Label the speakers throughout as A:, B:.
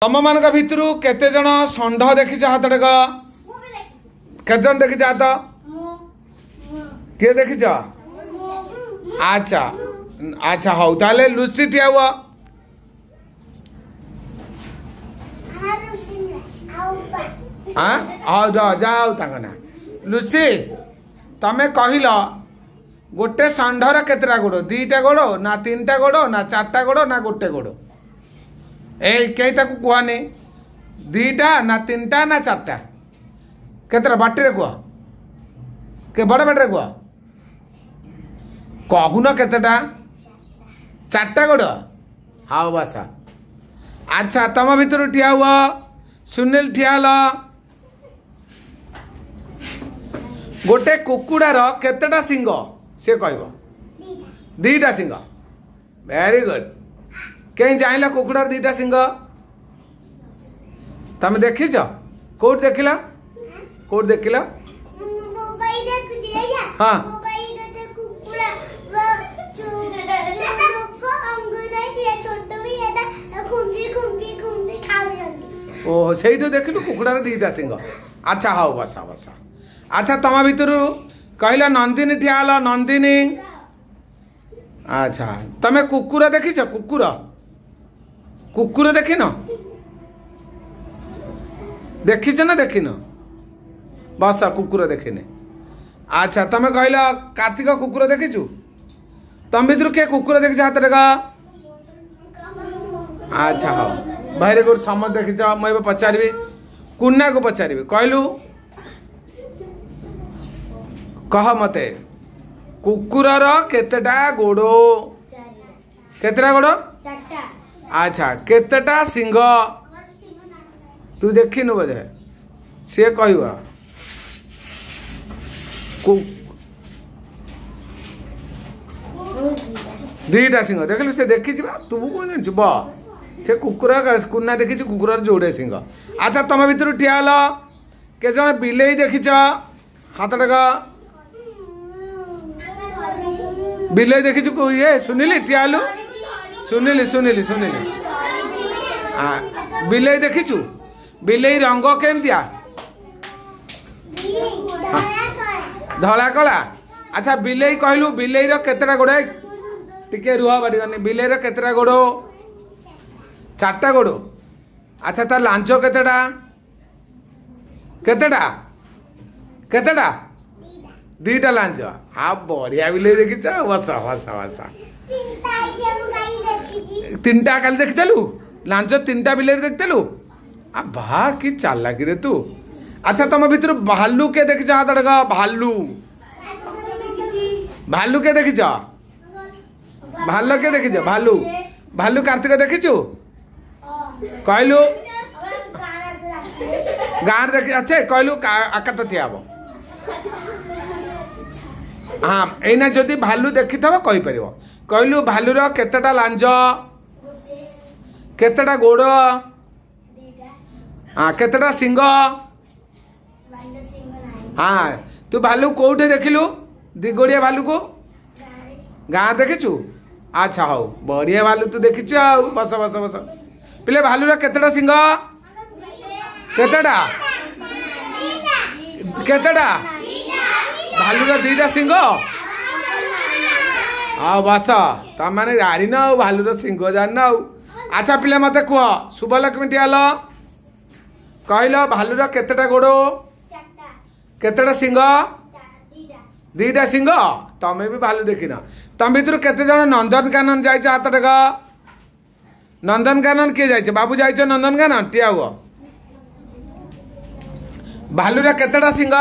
A: ତମମାନଙ୍କ ଭିତରୁ କେତେ ଜଣ ଷଣ୍ଢ ଦେଖିଛ? ହାତ ଟେକ। କେତେ ଜଣ ଦେଖିଛ ହାତ? କିଏ ଦେଖିଛ? ଆଚ୍ଛା ଆଚ୍ଛା, ହଉ ତାହେଲେ ଲୁସି ଠିଆ ହୁଅ। ହଉ ଯା, ହଉ ତାଙ୍କ ନା ଲୁସି। ତମେ କହିଲ ଗୋଟେ ଷଣ୍ଢର କେତେଟା ଗୋଡ଼? ଦିଟା ଗୋଡ଼ ନା ତିନିଟା ଗୋଡ଼ ନା ଚାରିଟା ଗୋଡ଼ ନା ଗୋଟେ ଗୋଡ଼? ଏଇ କେହି ତାକୁ କୁହନି। ଦିଟା ନା ତିନିଟା ନା ଚାରିଟା, କେତେଟା? ବାଟିରେ କୁହ, ବଡ଼ ବାଟିରେ କୁହ, କହୁନ କେତେଟା? ଚାରିଟା ଗୋଡ଼। ହଉ ବସ। ଆଚ୍ଛା, ତମ ଭିତରୁ ଠିଆ ହୁଅ। ସୁନୀଲ ଠିଆ ହେଲ। ଗୋଟେ କୁକୁଡ଼ାର କେତେଟା ଶିଙ୍ଗ ସେ କହିବ? ଦିଟା ଶିଙ୍ଗ। Very good. କେହି ଜାଣିଲ କୁକୁଡ଼ାର ଦିଟା ଶିଙ୍ଗ? ତମେ ଦେଖିଛ? କୋଉଠି ଦେଖିଲ? କୋଉଠି ଦେଖିଲ? ହଁ, ଓହୋ, ସେଇଠୁ ଦେଖିଲୁ କୁକୁଡ଼ାର ଦିଟା ଶିଙ୍ଗ। ଆଚ୍ଛା ହଉ, ବସ ବସ। ଆଚ୍ଛା, ତମ ଭିତରୁ କହିଲ ନନ୍ଦିନୀ ଠିଆ ହେଲ। ନନ୍ଦିନୀ, ଆଚ୍ଛା, ତମେ କୁକୁର ଦେଖିଛ? କୁକୁର, କୁକୁର ଦେଖିନ? ଦେଖିଛ ନା ଦେଖିନ? ବସ। କୁକୁର ଦେଖିନି। ଆଚ୍ଛା, ତମେ କହିଲ କାର୍ତ୍ତିକ, କୁକୁର ଦେଖିଛୁ? ତମ ଭିତରୁ କିଏ କୁକୁର ଦେଖିଛ? ହାତରେ ଗ। ଆଚ୍ଛା ହଉ, ଭେରି ଗୁଡ୍, ସମସ୍ତେ ଦେଖିଛ। ମୁଁ ଏବେ ପଚାରିବି, କୁନାକୁ ପଚାରିବି। କହିଲୁ, କହ ମତେ, କୁକୁରର କେତେଟା ଗୋଡ଼? କେତେଟା ଗୋଡ଼? ଆଚ୍ଛା, କେତେଟା ଶିଙ୍ଗ? ତୁ ଦେଖିନୁ ବୋଧେ, ସିଏ କହିବ। ଦିଟା ସିଂହ। ଦେଖିଲୁ, ସେ ଦେଖିଛି ବା, ତୁ କଣ ଜାଣିଛୁ? ବ ସେ କୁକୁର କୁନା ଦେଖିଛି କୁକୁରର ଯୋଡ଼େ ସିଂହ। ଆଚ୍ଛା, ତମ ଭିତରୁ ଠିଆ ହେଲ। କେତେ ଜଣ ବିଲେଇ ଦେଖିଛ? ହାତ ଟେକ। ବିଲେଇ ଦେଖିଛୁ? ଇଏ ସୁନିଲି ଠିଆ ହେଲୁ। ସୁନିଲି, ସୁନିଲି, ସୁନିଲି, ବିଲେଇ ଦେଖିଛୁ? ବିଲେଇ ରଙ୍ଗ କେମିତିଆ? ଧଳା କଳା। ଆଚ୍ଛା, ବିଲେଇ କହିଲୁ, ବିଲେଇର କେତେଟା ଗୋଡ଼? ଟିକେ ରୁହ, ବାଟିଗନି। ବିଲେଇର କେତେଟା ଗୋଡ଼? ଚାରିଟା ଗୋଡ଼। ଆଚ୍ଛା, ତା ଲାଞ୍ଜ କେତେଟା? କେତେଟା? କେତେଟା? ଦିଟା ଲାଞ୍ଜ। ଆଉ ବଢିଆ ବିଲେଇ ଦେଖିଛ। ବସ ବସ ବସ। ତିନିଟା କାଲି ଦେଖିଥିଲୁ ଲାଞ୍ଜ? ତିନିଟା ବିଲେଇ ଦେଖିଥିଲୁ? ଆ ବା, କି ଚାଲାକିରେ ତୁ। ଆଚ୍ଛା, ତମ ଭିତରୁ ଭାଲୁ କିଏ ଦେଖିଛ? ହାତ ଟେକ। ଭାଲୁ, ଭାଲୁ କିଏ ଦେଖିଛ? ଭାଲୁ କିଏ ଦେଖିଛ? ଭାଲୁ, ଭାଲୁ କାର୍ତ୍ତିକ ଦେଖିଛୁ? କହିଲୁ, ଗାଁରେ ଦେଖି? ଆଚ୍ଛା କହିଲୁ, ଆକାତ ଠିଆ ହବ। ହଁ, ଏଇନା ଯଦି ଭାଲୁ ଦେଖିଥିବ କହିପାରିବ। କହିଲୁ, ଭାଲୁର କେତେଟା ଲାଞ୍ଜ? କେତେଟା ଗୋଡ଼? ହଁ, କେତେଟା ଶିଙ୍ଗ? ହଁ, ତୁ ଭାଲୁ କୋଉଠି ଦେଖିଲୁ? ଦିଗୋଡ଼ିଆ ଭାଲୁକୁ ଗାଁ ଦେଖିଛୁ? ଆଚ୍ଛା ହଉ, ବଢ଼ିଆ ଭାଲୁ ତୁ ଦେଖିଛୁ। ଆଉ ବସ ବସ ବସ। ପିଲେ, ଭାଲୁର କେତେଟା ଶିଙ୍ଗ? କେତେଟା? କେତେଟା? ଭାଲୁର ଦିଟା ଶିଙ୍ଗ। ଆଉ ବସ। ତମମାନେ ଜାଣିନ ଆଉ, ଭାଲୁର ଶିଙ୍ଗ ଜାଣିନ ଆଉ। ଆଚ୍ଛା ପିଲା, ମତେ କୁହ, ଶୁଭଲକ୍ଷ୍ମୀ ଠିଆ ହେଲ। କହିଲ, ଭାଲୁର କେତେଟା ଗୋଡ଼? କେତେଟା ଶିଙ୍ଗ? ଦିଟା ଶିଙ୍ଗ। ତମେ ବି ଭାଲୁ ଦେଖିନ। ତମ ଭିତରୁ କେତେ ଜଣ ନନ୍ଦନକାନନ ଯାଇଛ? ହାତ ଟେକ। ନନ୍ଦନକାନନ କିଏ ଯାଇଛ? ବାବୁ ଯାଇଛ ନନ୍ଦନକାନନ? ଠିଆ ହୁଅ। ଭାଲୁର କେତେଟା ଶିଙ୍ଗ?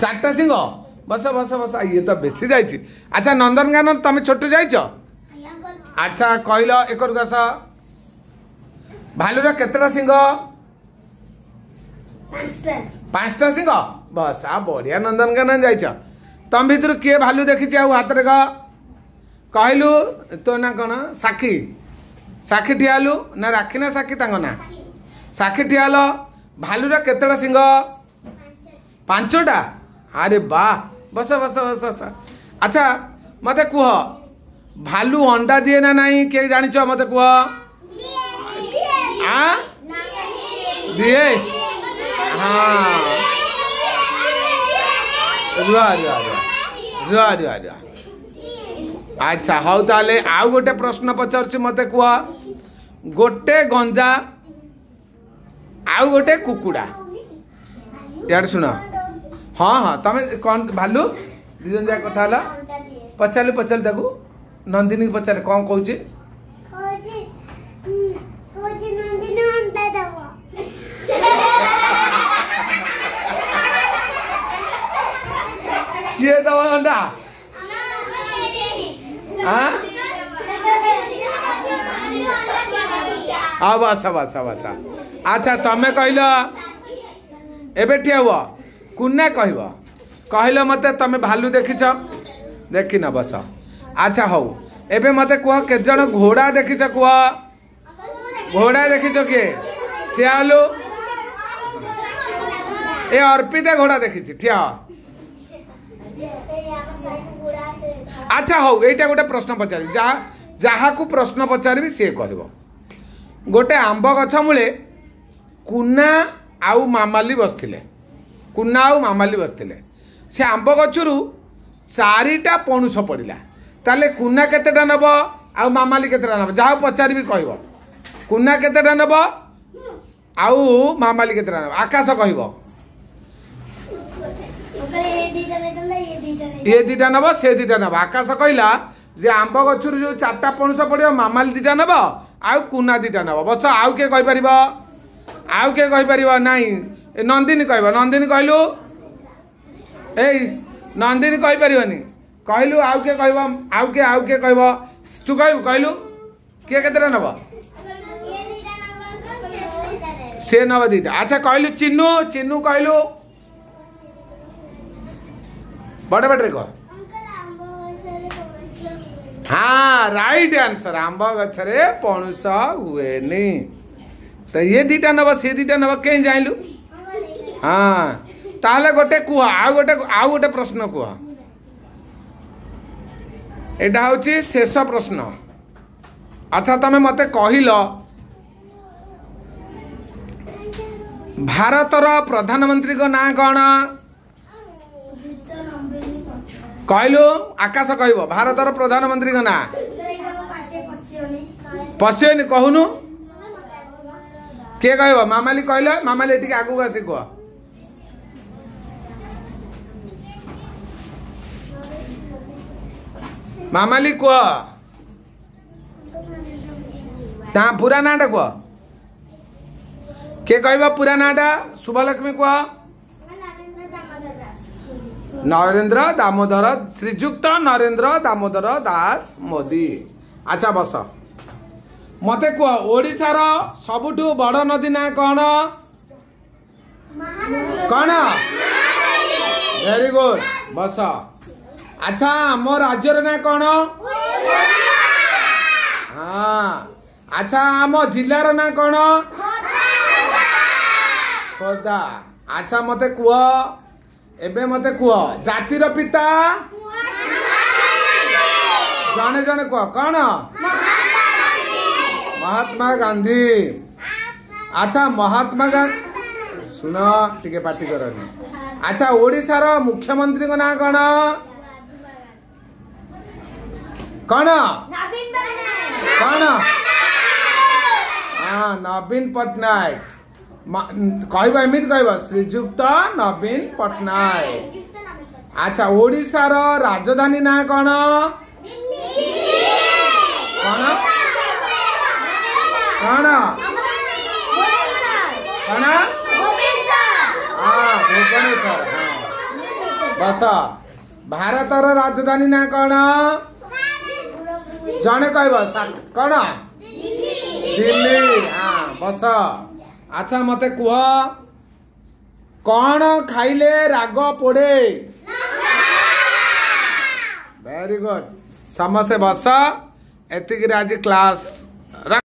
A: ଚାରିଟା ଶିଙ୍ଗ। ବସ ବସ ବସ। ଇଏ ତ ବେଶୀ ଯାଇଛି। ଆଚ୍ଛା, ନନ୍ଦନକାନନ ତମେ ଛୋଟ ଯାଇଛ? ଆଚ୍ଛା କହିଲ, ଏକରକୁ ଆସ। ଭାଲୁର କେତେଟା ଶିଙ୍ଗ? ପାଞ୍ଚଟା ଶିଙ୍ଗ। ବସ୍, ଆଉ ବଢିଆ, ନନ୍ଦନକାନନ ଯାଇଛ। ତମ ଭିତରୁ କିଏ ଭାଲୁ ଦେଖିଛି ଆଉ ହାତରେ କ କହିଲୁ, ତୋ ନା କଣ? ସାକ୍ଷୀ, ସାକ୍ଷୀ ଠିଆ ହେଲୁ। ନା ରାକ୍ଷୀ ନା ସାକ୍ଷୀ ତାଙ୍କ ନା? ସାକ୍ଷୀ ଠିଆ ହେଲ। ଭାଲୁର କେତେଟା ଶିଙ୍ଗ? ପାଞ୍ଚଟା। ଆରେ ବା, ବସ ବସ ବସ ବସ। ଆଚ୍ଛା ମତେ କୁହ, ଭାଲୁ ଅଣ୍ଡା ଦିଏ ନା ନାହିଁ କିଏ ଜାଣିଛ ମତେ କୁହ? ଆ ଦିଏ। ହଁ, ରୁହ ରୁହ ରୁହ ରୁହ ରୁହ ରୁହ। ଆଚ୍ଛା ହଉ, ତାହେଲେ ଆଉ ଗୋଟେ ପ୍ରଶ୍ନ ପଚାରୁଛି, ମତେ କୁହ। ଗୋଟେ ଗଞ୍ଜା ଆଉ ଗୋଟେ କୁକୁଡ଼ା, ଇଆଡ଼େ ଶୁଣ। ହଁ ହଁ, ତମେ କ'ଣ ଭାଲୁ ଦି ଜଣ ଯାକ କଥା ହେଲା। ପଚାରିଲୁ, ପଚାରିଲୁ ତାକୁ, ନନ୍ଦିନୀକି ପଚାରିଲେ କ'ଣ କହୁଛି? କିଏ ଦବ ଅଣ୍ଡା? ହଁ, ବସ ବସ ବସ। ଆଚ୍ଛା, ତମେ କହିଲ, ଏବେ ଠିଆ ହୁଅ। କୁନା କହିବ, କହିଲ ମତେ, ତମେ ଭାଲୁ ଦେଖିଛ? ଦେଖିନ, ବସ। ଆଚ୍ଛା ହଉ, ଏବେ ମତେ କୁହ, କେତେ ଜଣ ଘୋଡ଼ା ଦେଖିଛ କୁହ? ଘୋଡ଼ା ଦେଖିଛ କିଏ? ଠିଆ ହେଲୁ। ଏ ଅର୍ପିତା ଘୋଡ଼ା ଦେଖିଛି, ଠିଆ। ଆଚ୍ଛା ହଉ, ଏଇଟା ଗୋଟେ ପ୍ରଶ୍ନ ପଚାରିବି। ଯାହାକୁ ପ୍ରଶ୍ନ ପଚାରିବି ସିଏ କହିବ। ଗୋଟେ ଆମ୍ବ ଗଛ ମୂଳେ କୁନା ଆଉ ମାମାଲି ବସିଥିଲେ। କୁନା ଆଉ ମାମାଲି ବସିଥିଲେ। ସେ ଆମ୍ବ ଗଛରୁ ଚାରିଟା ପଣୁସ ପଡ଼ିଲା। ତାହେଲେ କୁନା କେତେଟା ନେବ ଆଉ ମାମାଲି କେତେଟା ନେବ? ଯାହାକୁ ପଚାରିବି କହିବ। କୁନା କେତେଟା ନେବ ଆଉ ମାମାଲି କେତେଟା ନେବ? ଆକାଶ କହିବ। ଇଏ ଦିଟା ନେବ, ସେ ଦିଟା ନେବ। ଆକାଶ କହିଲା ଯେ ଆମ୍ବ ଗଛରୁ ଯୋଉ ଚାରିଟା ପଣସ ପଡ଼ିବ, ମାମାଲି ଦିଟା ନେବ ଆଉ କୁନା ଦିଟା ନେବ। ବସ। ଆଉ କିଏ କହିପାରିବ? ଆଉ କିଏ କହିପାରିବ? ନାଇଁ, ଏ ନନ୍ଦିନୀ କହିବ। ନନ୍ଦିନୀ କହିଲୁ। ଏଇ ନନ୍ଦିନୀ କହିପାରିବନି, କହିଲୁ। ଆଉ କିଏ କହିବ? ଆଉ କିଏ, ଆଉ କିଏ କହିବ? ତୁ କହିବୁ, କହିଲୁ କିଏ କେତେଟା ନେବ? ସେ ନେବ ଦିଟା। ଆଚ୍ଛା କହିଲୁ ଚିନୁ, ଚିନୁ କହିଲୁ, ବଡ଼ ପାଟିରେ କହ। ହଁ, ରାଇଟ୍ ଆନ୍ସର। ଆମ୍ବ ଗଛରେ ପଣୁସ ହୁଏନି। ତ ଇଏ ଦିଟା ନେବ, ସେ ଦିଟା ନେବ, କେହି ଜାଣିଲୁ? ହଁ, ତାହେଲେ ଗୋଟେ କୁହ, ଆଉ ଗୋଟେ ପ୍ରଶ୍ନ କୁହ। ଏଇଟା ହେଉଛି ଶେଷ ପ୍ରଶ୍ନ। ଆଚ୍ଛା, ତମେ ମତେ କହିଲ, ଭାରତର ପ୍ରଧାନମନ୍ତ୍ରୀଙ୍କ ନାଁ କ'ଣ କହିଲୁ? ଆକାଶ କହିବ, ଭାରତର ପ୍ରଧାନମନ୍ତ୍ରୀଙ୍କ ନାଁ। ପଶିବନି, କହୁନୁ। କିଏ କହିବ? ମାମାଲି କହିଲ। ମାମାଲି, ଟିକେ ଆଗକୁ ଆସି କୁହ। ମାମାଲି କୁହ ନା, ପୁରା ନାଁଟା କୁହ। କିଏ କହିବ ପୁରା ନାଁଟା? ଶୁଭଲକ୍ଷ୍ମୀ କୁହ। ନରେନ୍ଦ୍ର ଦାମୋଦର, ଶ୍ରୀଯୁକ୍ତ ନରେନ୍ଦ୍ର ଦାମୋଦର ଦାସ ମୋଦି। ଆଚ୍ଛା ବସ। ମତେ କୁହ, ଓଡ଼ିଶାର ସବୁଠୁ ବଡ଼ ନଦୀ ନାଁ କ'ଣ? କ'ଣ? ଭେରି ଗୁଡ୍, ବସ। ଆଚ୍ଛା, ଆମ ରାଜ୍ୟର ନାଁ କ'ଣ? ହଁ। ଆଚ୍ଛା, ଆମ ଜିଲ୍ଲାର ନାଁ କ'ଣ? ଖୋର୍ଦ୍ଧା। ଆଚ୍ଛା, ମତେ କୁହ, ଏବେ ମତେ କୁହ, ଜାତିର ପିତା ଜଣେ ଜଣେ କୁହ, କ'ଣ? ମହାତ୍ମା ଗାନ୍ଧୀ। ଆଚ୍ଛା, ମହାତ୍ମା ଗାନ୍ଧୀ, ଶୁଣ ଟିକେ, ପାଟି କରନି। ଆଚ୍ଛା, ଓଡ଼ିଶାର ମୁଖ୍ୟମନ୍ତ୍ରୀଙ୍କ ନାଁ କ'ଣ? କ'ଣ, କ'ଣ? ହଁ, ନବୀନ ପଟ୍ଟନାୟକ। କହିବ, ଏମିତି କହିବ, ଶ୍ରୀଯୁକ୍ତ ନବୀନ ପଟ୍ଟନାୟକ। ଆଚ୍ଛା, ଓଡ଼ିଶାର ରାଜଧାନୀ ନାଁ କ'ଣ? କ'ଣ, କ'ଣ, କ'ଣ? ହଁ, ଭୁବନେଶ୍ୱର। ହଁ, ବସ। ଭାରତର ରାଜଧାନୀ ନାଁ କ'ଣ? ଜଣେ କହିବ, କ'ଣ? ଦିଲ୍ଲୀ। ହଁ, ବସ। ଆଚ୍ଛା, ମତେ କୁହ, କ'ଣ ଖାଇଲେ ରାଗ ପୋଡ଼େ? Very good. ସମସ୍ତେ ବସ। ଏତିକିରେ ଆଜି କ୍ଲାସ୍